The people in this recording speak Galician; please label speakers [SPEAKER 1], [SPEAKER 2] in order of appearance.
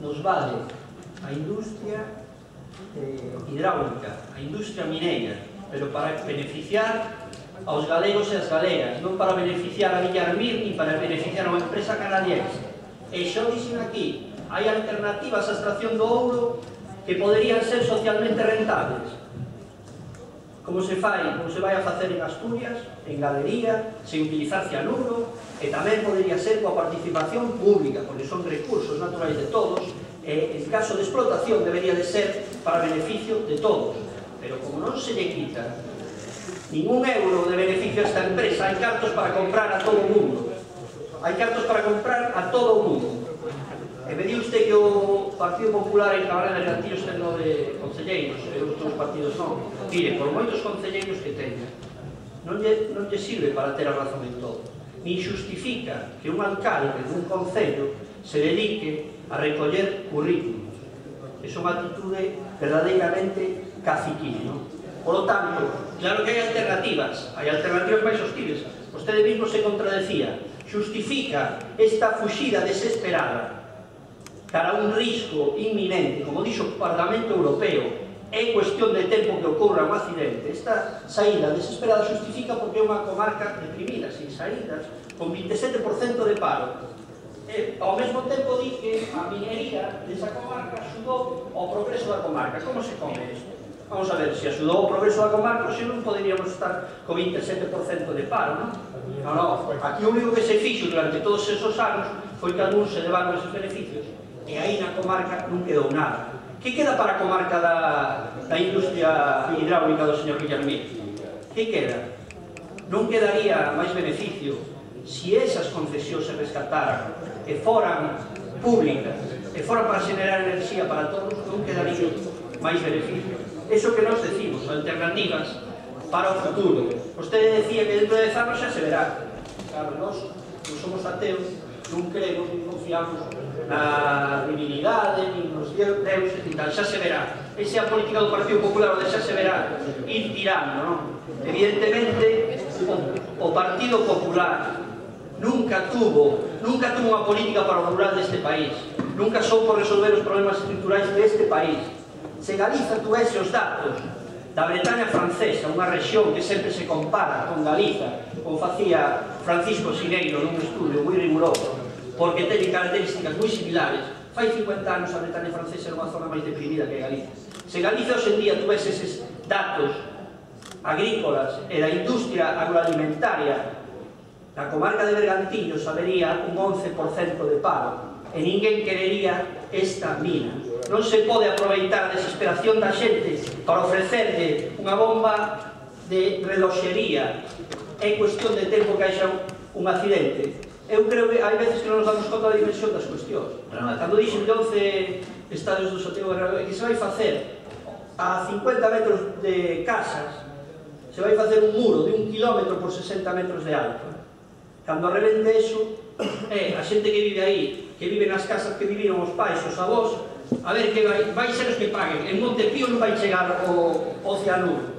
[SPEAKER 1] nos vale a industria hidráulica, a industria mineira, pero para beneficiar aos galegos e as galegas, non para beneficiar a Villarmir ni para beneficiar a unha empresa canadiense. E xo dixen aquí, hai alternativas á extracción do ouro que poderían ser socialmente rentables, como se vai a facer en Asturias, en galería, sen utilizar cianuro, e tamén podería ser coa participación pública, porque son recursos naturais de todos, e en caso de explotación debería de ser para beneficio de todos. Pero como non se lle quita ningún euro de beneficio a esta empresa, hai cartos para comprar a todo o mundo. Hai cartos para comprar a todo o mundo. E me di usted que o Partido Popular en Cabrera de Gantillos ten 9 concelleiros, e outros partidos non. Mire, por moitos concelleiros que teña, non lle sirve para ter a razón en todo. Ni justifica que un alcalde dun concello se dedique a recoller currículos. É unha actitude verdadeiramente caciquil, non? Por lo tanto, claro que hai alternativas máis hostiles. Vostede mismo se contradecía. Justifica esta fuxida desesperada cara a un risco inminente, como dixo o Parlamento Europeo, é cuestión de tempo que ocorra un accidente. Esta saída desesperada justifica porque é unha comarca deprimida, sin saídas, con 27% de paro. Ao mesmo tempo di que a minería desa comarca axudou ao progreso da comarca. Como se come isto? Vamos a ver, se axudou o progreso da comarca, se non poderíamos estar co 27% de paro, non? Non, aquí o único que se fixo durante todos esos anos foi que algúns se levaron esos beneficios e aí na comarca non quedou nada. Que queda para a comarca da industria hidráulica do señor Villarmir? Que queda? Non quedaría máis beneficio se esas concesións se rescataran e foran públicas e foran para xenerar enerxía para todos, non quedaría máis beneficio. Eso que nos decimos, alternativas para o futuro. Vostede decía que dentro de 10 anos xa se verá. Claro, nós non somos ateos, non creemos, non confiamos na divinidade, nin nos deuses e tal, xa se verá. Esa é a política do Partido Popular, onde xa se verá ir tirando, non? Evidentemente, o Partido Popular nunca tuvo unha política para o rural deste país, nunca soupo resolver os problemas estruturais deste país. Se Galiza tuvese os datos da Bretaña francesa, unha rexión que sempre se compara con Galiza, como facía Francisco Sineiro nun estudio moi riguroso, porque ten características moi similares, fai 50 anos a Bretaña francesa era unha zona máis deprimida que Galiza. Se Galiza hoxe en día tuvese eses datos agrícolas e da industria agroalimentaria, na comarca de Bergantiños habería un 11% de paro e ninguén querería esta mina. Non se pode aproveitar a desesperación da xente para ofrecerle unha bomba de reloxería. É cuestión de tempo que haxa un accidente. Eu creo que hai veces que non nos damos conta da dimensión das cuestións. Cando dixen de 11 estadios do Santiago Bernabéu, que se vai facer a 50 metros de casas, se vai facer un muro de 1 kilómetro por 60 metros de alto. Cando revente eso, a xente que vive aí, que vive nas casas que viviron os pais, os avós, a ver, que vai ser os que paguen. En Montepío non vai chegar o cianuro.